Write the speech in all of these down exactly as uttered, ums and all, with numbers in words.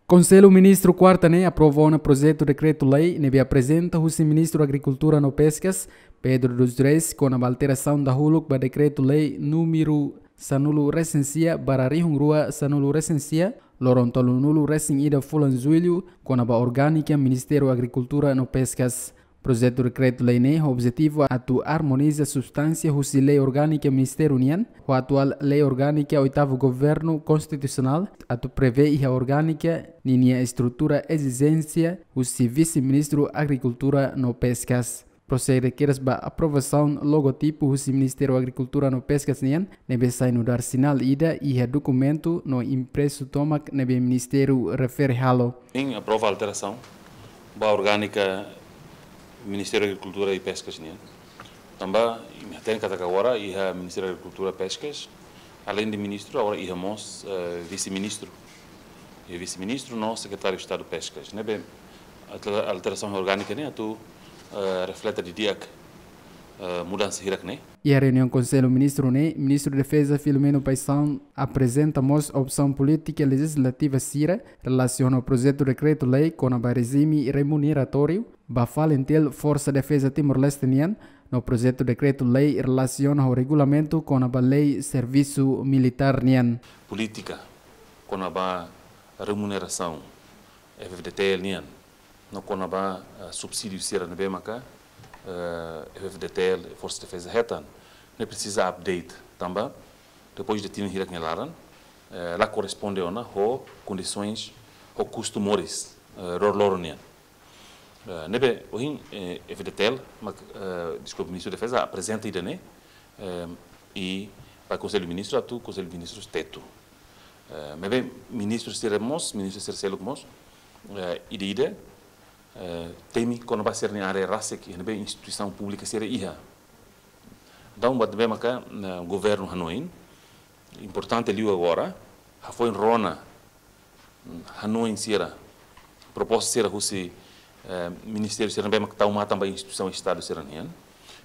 Konsellu Ministru kuarta ne'e aprova ona projetu dekretu-lei ne'ebé aprezenta husi Ministru Agrikultura no Peskas, Pedro dos Reis, kona-ba alterasaun dahuluk ba dekretu-lei númeru sanulu resin sia barra rihun rua sanulu resin sia, loron tolunulu resin ida fulan Jullu, kona-ba orgánika Ministériu Agrikultura no Peskas. Projetu dekretu-lei ne'e ho objetivu atu armoniza substánsia husi lei orgánika ministériu nian ho atuál lei orgánika oitavu governu konstitusionál, atu prevee iha orgánika ninia estrutura ezijénsia husi Vise-Ministru Agrikultura no Peskas. Prosege kedas ba aprovasaun logotipu husi Ministériu Agrikultura no Peskas nian, ne'ebé sai nu'udar sinál ida iha dokumentu no impresu tomak ne'ebé ministériu refere halo. Sim, aprova alterasaun ba orgánika Ministériu Agrikultura i Peskas nian. Tanba, imi hatene katak agora iha Ministériu Agrikultura Peskas, além de ministru, agora iha mós, eh, vise-ministru. Iha vise-ministru no Sekretáriu Estadu Peskas. Ne'ebé alter-, alterasaun orgánika ne'e atu, eh, reflete didi'ak, eh, mudansa hirak ne'e. Iha reuniaun Konsellu Ministru ne'e, Ministru Defeza Filomeno Paixão aprezenta mós opsaun polítika lejizlativa sira relasiona ho projetu dekretu-lei kona-ba rejime remuneratóriu ba FALINTIL, Forsa Defeza Timor-Leste nian, no projetu dekretu-lei relasiona ho regulamentu kona-ba lei servisu militár nian. Polítika kona-ba remunerasaun F-FDTL nian, no kona-ba, eh, subsídiu sira ne'ebé maka, eh, F-FDTL, Forsa Defeza hetan, ne'e presiza update, tanba depois de tinan hirak nia laran, eh, la korresponde ona ho kondisoens, ho kustu moris, eh, loroloron nian. Eh, ne'ebé ohin, eh, F-FDTL, mak, eh, deskulpa, Ministru Defeza aprezenta ida-ne'e, eh, i ba Konsellu Ministru atu Konsellu Ministru tetu. Eh, maibé ministru sira mós, ministru sira seluk mós, eh, ida-ida, eh, temi kona-ba sira-nia área rasik, ne'ebé instituisaun públika sira iha. Entaun, buat ne'ebé maka, eh, governu hanoin importante liu agora, hafoin rona, mm, hanoin sira, proposta sira husi, eh, ministériu sira ne'ebé maka tau matan ba instituisaun Estadu sira nian.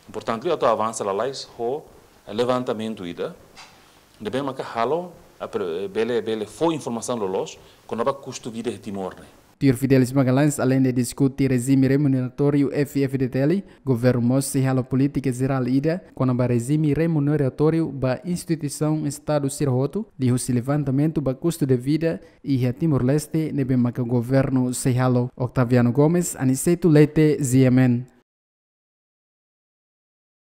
Importante liu atu avansa lalais ho, eh, levantamentu ida ne'ebé maka halo, apre-, bele, bele fó informasaun loloos kona-ba kustu vida iha Timor ne'e. Tuir Fidelis Magalhães, além de diskute rejime remuneratóriu F-FDTL, governu mós sei halo polítika jerál ida kona-ba rejime remuneratóriu ba instituisaun Estadu sira hotu, liuhusi levantamentu ba kustu de vida iha Timor-Leste ne'ebé maka governu sei halo. Octaviano Gomes, Aniceto Leite, G M N.